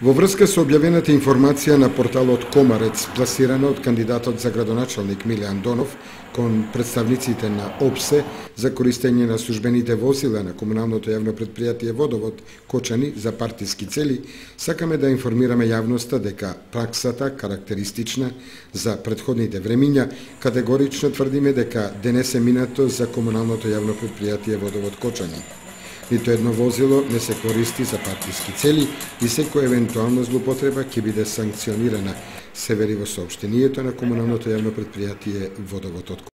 Во врска со објавената информација на порталот Комарец, пласирана од кандидатот за градоначалник Миле Андонов кон представниците на ОПСЕ за користење на службените возила на комуналното јавно предпријатие Водовод Кочани за партиски цели, сакаме да информираме јавноста дека праксата карактеристична за претходните времиња, категорично тврдиме дека денес е минато за комуналното јавно предпријатие Водовод Кочани. Нито едно возило не се користи за партиски цели и секоја евентуална злоупотреба ќе биде санкционирана, се вели во соопштението на комуналното јавно предпријатие Водовод од